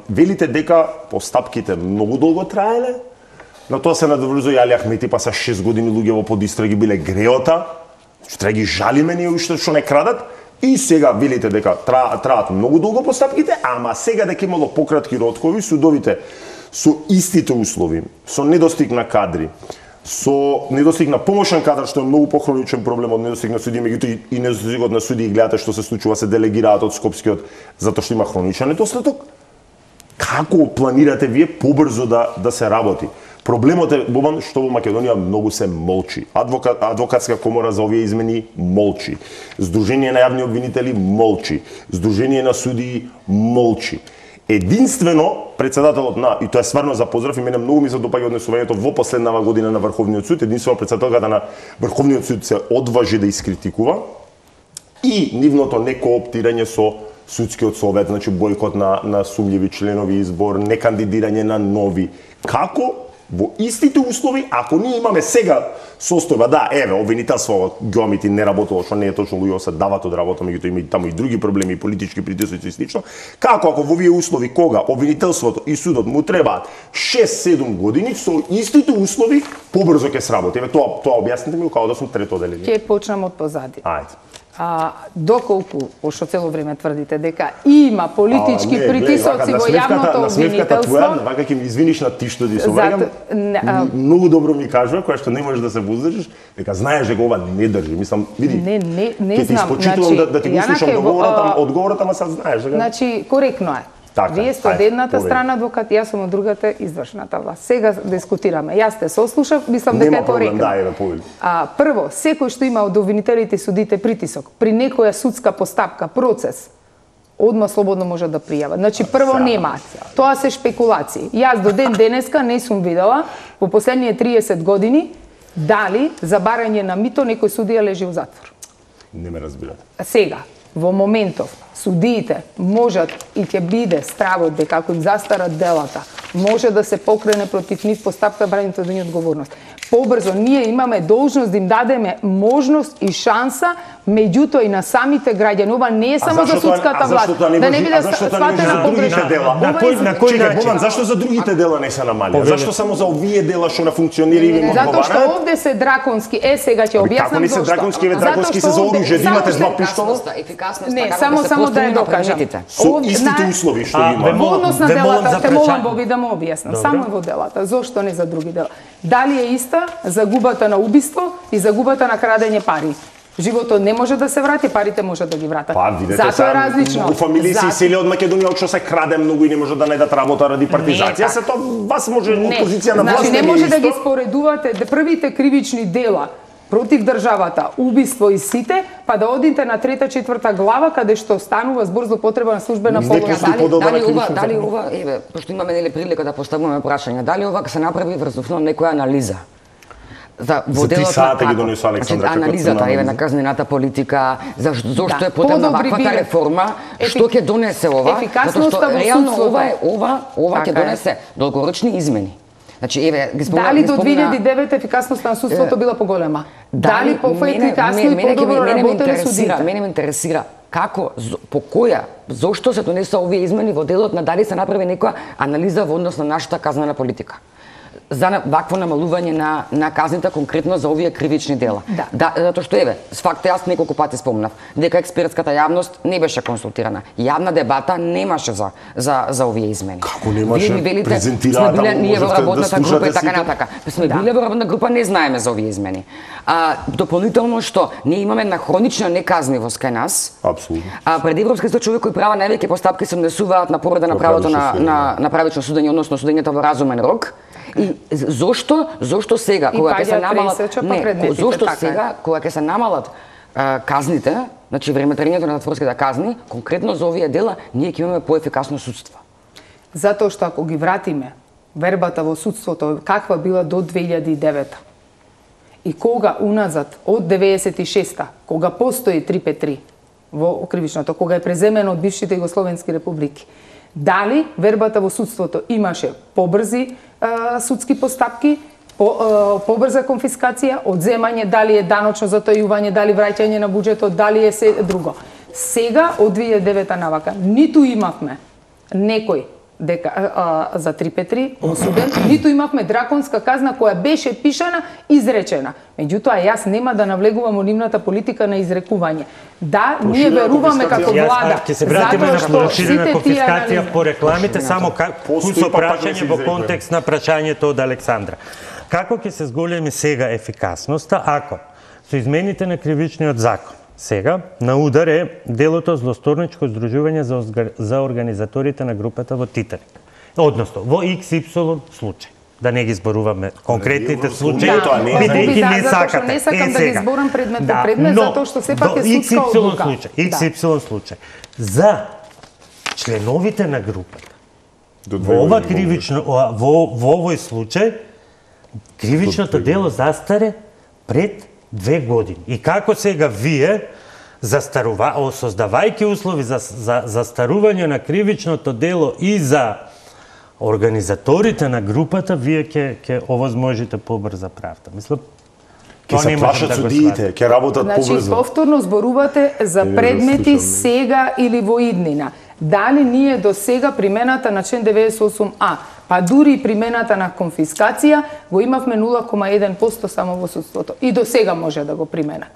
Велите дека постапките многу долго траеле. На тоа се надоврзува и Али Ахмети, па са 6 години луѓе во подистраги биле греота, што треба ги жалиме ние уште што не крадат, и сега велите дека траат многу долго постапките, ама сега дека имало пократки роткови, судовите со истите услови, со недостиг на кадри, со недостиг на помошен кадар, што е многу похроничен проблем од недостиг на суди, меѓутоа и недостигот на суди, и гледате што се случува, се делегираат од Скопскиот затоа што има хроничен недостаток. Како планирате вие побрзо да се работи? Проблемот е, Бобан, што во Македонија многу се молчи. Адвокатска комора за овие измени молчи. Сдружение на јавни обвинители молчи. Сдружение на судии молчи. Единствено, председателот и тоа е стварно за поздрав, и мене многу ми се допаѓа однесувањето во последнава година на Врховниот суд, единствено председателката на Врховниот суд се одважи да искритикува и нивното некооптирање со судскиот совет, значи бојкот на сумњиви членови избор, некандидирање на нови. Како Во истите услови, ако ние имаме сега состојба, да, еве, обвинителство Геомити не работело, што не е точно, луѓе се дават од работа, меѓутоа има и таму и други проблеми, политички притисоци и слично. Како ако во овие услови кога обвинителството и судот му требаат 6-7 години, со истите услови побрзо ќе сработи. Еве тоа објасните ми како да сум трето одделение. Ќе почнам од позади. Ајде. Доколку, пошто цело време тврдите дека има политички притисоци во јавното обвинителство... Вака ќе ми извиниш на ти што ти соврагам, многу добро ми кажува, која што не можеш да се воздържиш, дека знаеш дека ова не држи. Мислам, види, не ќе ти испочитувам да ти го слушам одговорот, ама сад знаеш. Значи, коректно е. Вие сте од едната страна адвокат, јас сум од другата извршната власт. Сега дискутираме. Јас те сослушав, мислам дека е коректно. Прво, секој што има од обвинителите и судите притисок при некоја судска постапка, процес, одма слободно може да пријава. Значи, прво нема. Тоа се шпекулации. Јас до ден денеска не сум видела во последните 30 години дали за барање на мито некој судија лежи во затвор. Не ме разбирате. Сега, во моментов, судиите можат и ќе биде стравот дека ако им застарат делата, може да се покрене против нив постапка брањето од одговорност. Побрзо ние имаме должност да им дадеме можност и шанса, меѓутоа и на самите граѓани. Ова не е само за судската власт. Да не биде сватена погрешно. На кој начин? Зашто за другите дела не се намалија? Зашто само за овие дела што на функционери им одговараат? Затоа што овде се драконски. Сега ќе објаснам како не се драконски, драконски се за оружје, да имате два пиштола. Не, само да ја докажам. Со истите услови што има. Во однос на делата, те молам Боби да му објаснам. Само во делата. Зошто не за други дела? Дали е иста загубата на убиство и загубата на крадење пари? Животот не може да се врати, парите може да ги вратат. Затоа е различно. Во фамилии се исели од Македонија, од што се краде многу и не може да најдат работа ради партизација. Се тоа вас може опозиција на власт. Значи не може да ги споредувате првите кривични дела против државата, убиство и сите, па да одите на 3-4 глава каде што станува збор за употреба на службена помош. Дали ова, еве, пошто имаме нели прилика да поставуваме прашања, дали ова се направи врз основа некоја анализа? За 3 сата ги донесува Александра. Анализата еве на казнената политика, зошто е потребна ваквата реформа, што ќе донесе ова? Затоа што реално ова ќе донесе долгорочни измени. Значи еве ги спомнав. Дали до 2009 ефикасноста на судството била поголема? Дали поефикасно и подобро работеле судите? Мене ме интересира како, по која, зошто се донесоа овие измени во делот на дали се направи некоја анализа во однос на нашата казнена политика за вакво намалување на казните конкретно за овие кривични дела. Да, затоа што еве, с факт јас неколку пати спомнав дека експертската јавност не беше консултирана. Јавна дебата немаше за овие измени. Како немаше? Вие ми велите, сме биле ние во работната група и така натака. Сме биле во работна група, не знаеме за овие измени. Дополнително што ние имаме една хронична неказнивост кај нас. Апсолутно. Пред Европскиот суд човекови права највеќе постапки се внесуваат на повреда на правото на правично судење, односно судењето во разумен рок. И зошто сега кога ќе се намалат зошто сега кога ќе се намалат казните, значи времетрањето на затворските казни, конкретно за овие дела ние ќе имаме поефикасно судство. Затоа што ако ги вратиме вербата во судството каква била до 2009 и кога уназад од 96-та, кога постои 353 во кривичното, кога е преземено од бившите југословенски републики, дали вербата во судството имаше побрзи судски постапки, побрза конфискација, одземање, дали е даночно затојување, дали враќање на буџетот, дали е се друго. Сега од 2009 навака ниту имавме некој дека за 353 осуден, ниту имавме драконска казна која беше пишана, изречена. Меѓутоа јас нема да навлегувам во нивната политика на изрекување. Да, ние веруваме како влада, ќе се вратиме на проширена конфискација по рекламите, само кусо прашање во контекст на прашањето од Александра. Како ќе се зголеми сега ефикасноста ако со измените на кривичниот закон сега на удар е делото злосторничко здружување за организаторите на групата во Титаник. Односно, во XY случај. Да не ги зборуваме конкретните случаи, бидејќи не сакате. Не сакам да ги зборам предмет по предмет, затоа што сепак е судска одлука. XY случај. За членовите на групата, во ова кривично, во овој случај, кривичното дело застаре пред 2 години. И како сега вие, создавајќи услови за застарување на кривичното дело и за организаторите на групата, вие ќе овозможите побрза правда. Мислам, ќе се плашат судиите, ќе работат побрзо. Значи, повторно зборувате за предмети сега или во иднина. Дали ние до сега примената на член 98А, па дури и примената на конфискација, го имавме 0,1% само во судството. И до сега може да го применат.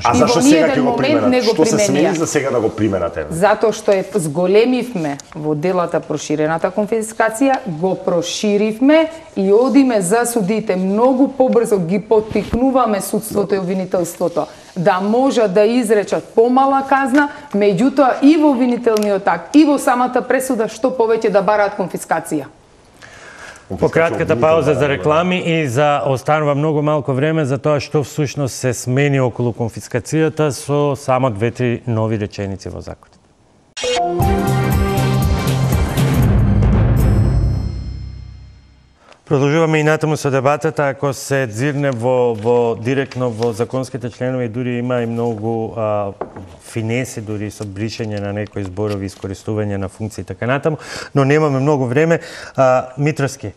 А зашто сега ќе го применат? Што се смени за сега да го применате? Затоа што зголемивме во делата проширената конфискација, го проширивме и одиме за судите многу побрзо, ги поттикнуваме судството и обвинителството да можат да изречат помала казна, меѓутоа и во обвинителниот акт, и во самата пресуда што повеќе да бараат конфискација. По кратката пауза за реклами и за останува многу малку време за тоа што всушност се смени околу конфискацијата со само 2-3 нови реченици во законот. Продолжуваме и натаму со дебатата, ако се дзирне директно во законските членови, дури има и многу финеси, дури со бришење на некои зборови, искористување на функции и така натаму, но немаме многу време. Митровски,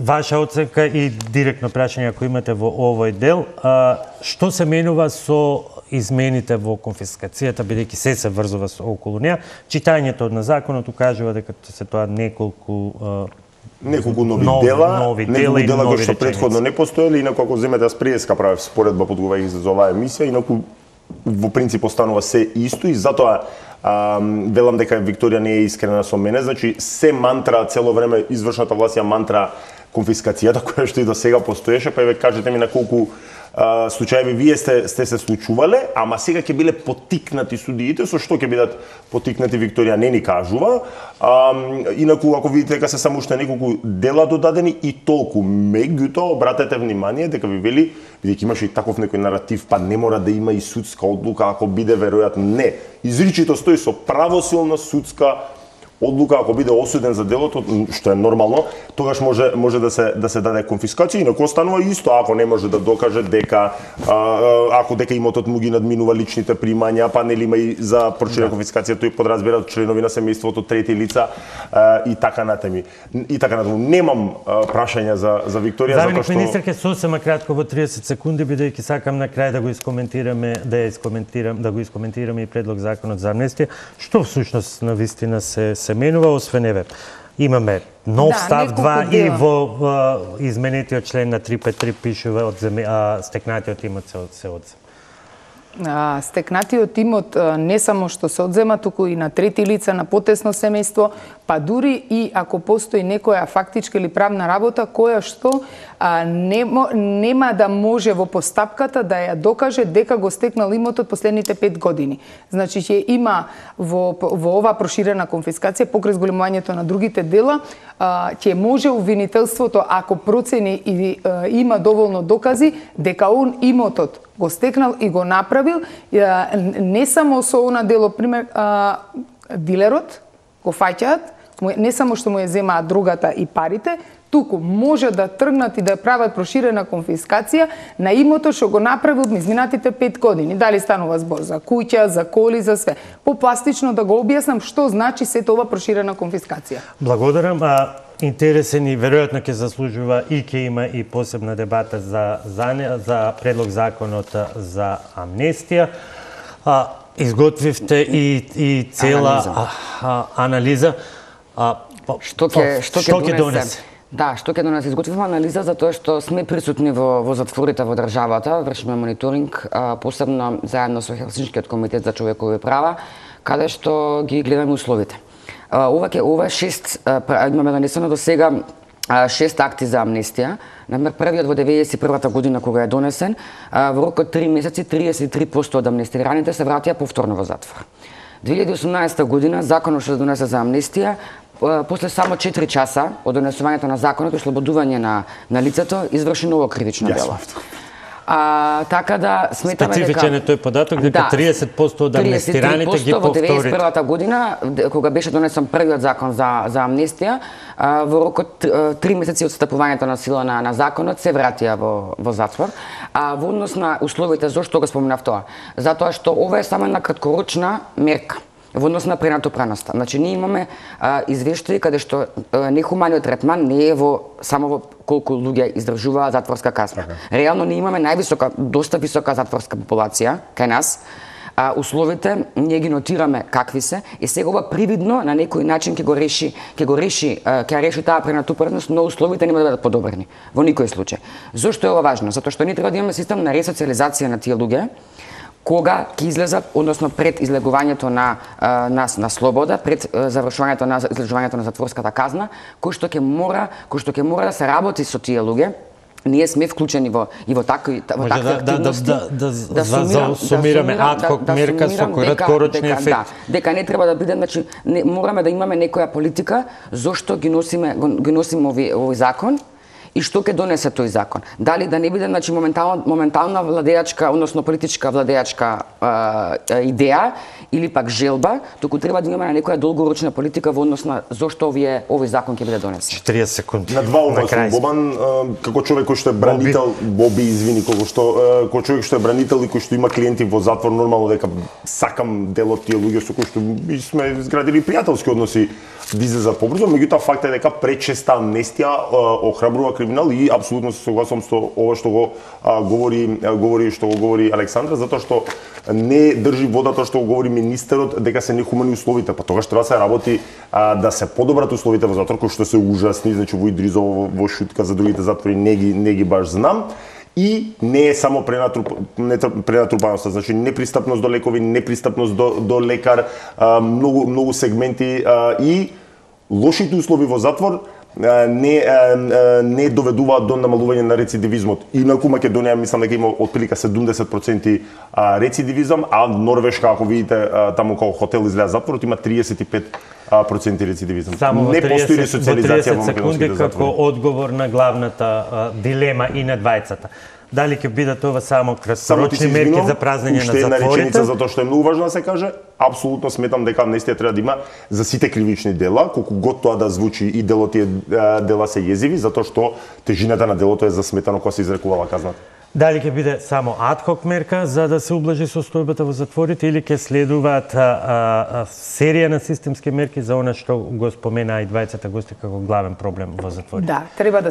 ваша оценка и директно прашање ако имате во овој дел, што се менува со измените во конфискацијата, бидејќи се врзува околу неа? Читањето на законот укажува дека се тоа неколку нови дела кои што претходно не постоеле, инаку ако земете аз преска правев споредба подготвувајќи се за оваа емисија, инаку во принцип останува се исто и затоа велам дека Викторија не е искрена со мене, значи се мантра цело време извршната власт ја мантра конфискацијата која што и до сега постоеше, па еве кажете ми на колку случаеви вие сте се случувале, ама сега ќе биле поттикнати судиите, со што ќе бидат поттикнати Викторија не ни кажува. Инаку ако видите дека се само уште неколку дела додадени и толку, меѓутоа обратете внимание дека ви вели, бидејќи имаше и таков некој наратив, па не мора да има и судска одлука ако биде веројатно не. Изричито стои со правосилна судска одлука ако биде осуден за делото, што е нормално, тогаш може да се даде конфискација, инаку останува исто ако не може да докаже дека ако дека имотот му ги надминува личните примања, па нели има и за проширена конфискација, тој подразбира членови на семејството, трети лица и така натаму. Немам прашања за Викторија затоа што министер ке сосема кратко во 30 секунди, бидејќи сакам на крај да го искоментираме и предлог законот за амнестија, што всушност на вистина се менува, освен еве. Имаме нов став 2 и во изменетиот член на 353 пишува стекнатиот имот се одзема. Стекнатиот имот не само што се одзема, туку и на трети лица, на потесно семејство, па дури и ако постои некоја фактичка или правна работа која што нема да може во постапката да ја докаже дека го стекнал имотот последните 5 години. Значи ќе има во оваа проширена конфискација покрај зголемувањето на другите дела, ќе може обвинителството ако процени и има доволно докази дека он имотот го стекнал и го направил, не само со она дело, пример, дилерот го фаќаат, не само што му ја земаат другата и парите, туку може да тргнат и да прават проширена конфискација на имотот што го направил изминатите 5 години. Дали станува збор за куќа, за коли, за све. Попластично да го објаснам што значи сето ова проширена конфискација. Благодарам. Интересен и веројатно ќе заслужува и ќе има и посебна дебата за предлог законот за амнестија. Изготвивте и цела анализа. Што ќе донесе? Да, што ќе донесе? Изготвивме анализа за тоа што сме присутни во затворите во државата, вршиме мониторинг, посебно заедно со Хелсиншкиот комитет за човекови права, каде што ги гледаме условите. Ова имаме донесено до сега 6 акти за амнестија. Например, првиот во 1991 година кога е донесен, во рок од 3 месеци 33% од амнестираните се вратија повторно во затвор. 2018 година законот што се донесе за амнестија, после само 4 часа од донесувањето на законот и ослободување на лицето, изврши ново кривично дело. Така да сметаме дека специфичен е тој податок дека 30% од амнестираните ги повторит. Во 1991 година кога беше донесен првиот закон за амнестија, во рок од 3 месеци од стапувањето на сила на законот се вратија во затвор. Во однос на условите, зошто го споменав тоа? Затоа што ова е само една краткорочна мерка. во однос на пренатопреноста. Значи ние имаме извештаи каде што нехуманиот третман не е само во колку луѓе издржуваат затворска казна. Реално ние имаме доста висока затворска популација кај нас. Условите ние ги нотираме какви се и сега ова привидно на некој начин ќе реши таа пренатопреност, но условите нема да бидат подобрени во никој случај. Зошто е ова важно? Затоа што ние треба да имаме систем на ресоциализација на тие луѓе кога ќе излезат, односно пред излегувањето на слобода, пред завршувањето на излежувањето на затворската казна, кој што ќе мора да се работи со тие луѓе. Ние сме вклучени во такви активности. Да сумираме адхок мерка со краткорочни ефекти. Дека не треба да биде, значи мораме да имаме некоја политика зошто ги носиме овој закон и што ќе донесе тој закон. Дали да не биде, значи, моментална владеачка, односно политичка владеачка идеја или пак желба, туку треба да имаме некоја долгорочна политика во однос на зошто овој закон ќе биде донесен. 40 секунди. На два увазвам, Бобан, како човек кој што е бранител, Боби, извини, како човек што е бранител и кој што има клиенти во затвор, нормално дека сакам дел од тие луѓе со кои што сме изградили пријателски односи да излезат побрзо, меѓутоа фактот е дека пречеста амнестија охрабрува криминал и апсолутно се согласувам со ова што го говори Александра, затоа што не држи водата што го говори министерот дека се нехумани условите, па тогаш треба да се работи да се подобрат условите во затвор, кои што се ужасни, значи во Идризово, во Шутка, за другите затвори не ги баш знам. И не е само пренатропаноста, значи непристапност до лекови, непристапност до лекар, многу сегменти и лошите услови во затвор не доведуваат до намалување на рецидивизмот. Инаку Македонија мислам дека има отприлика 70% рецидивизам, а Норвешка, ако видите таму како хотел изгледа затворот, има 35% рецидивизам. Само не постои ресоциализација во македонските затвори. Како одговор на главната дилема и на двајцата. Дали ќе бидат ова само краткорочни мерки за празнење на затворите? Затоа што е многу важно да се каже, апсолутно сметам дека амнестија треба да има за сите кривични дела, колку год тоа да звучи и тие дела се језиви, затоа што тежината на делото е засметано кога се изрекувала казната. Дали ќе биде само адхок мерка за да се ублажи состојбата во затворите или ќе следуваат серија на системски мерки за она што го спомена и двајцата гости како главен проблем во затворите? Да, треба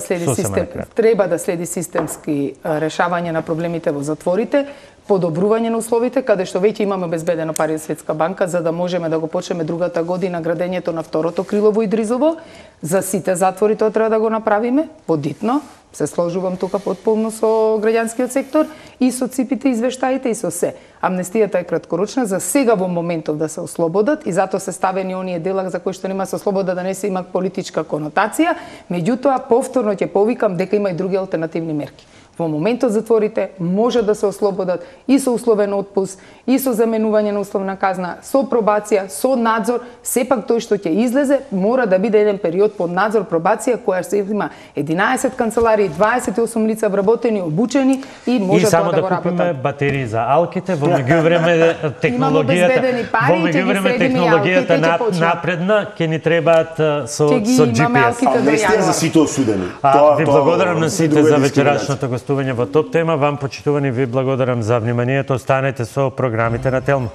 да следи системски решавање на проблемите во затворите, подобрување на условите, каде што веќе имаме обезбедено пари од Светска банка, за да можеме да го почнеме другата година градењето на второто крило во Идризово. За сите затвори тоа треба да го направиме, подитно. Се сложувам тука потполно со граѓанскиот сектор и со ципите, извештаите и со се. Амнестијата е краткорочна, за сега во моментов да се ослободат и затоа се ставени оние дела за кои што нема се слобода да не се има политичка конотација, меѓутоа повторно ќе повикам дека има и други алтернативни мерки. Во моментот затворите може да се ослободат и со условен отпуст, и со заменување на условна казна, со пробација, со надзор. Сепак тој што ќе излезе мора да биде еден период под надзор, пробација, која се има 11 канцеларии, 28 лица вработени, обучени и може тоа да го работат. И само да купиме батерии за алките, во меѓувреме технологијата напредна, ќе ни требаат со GPS. Амнестија за сите осудени. Ви благодарам на сите за вечерашното гостување во Топ Тема. Вам, почитувани, ви благодарам за вниманието. Останете со програмите на Телма.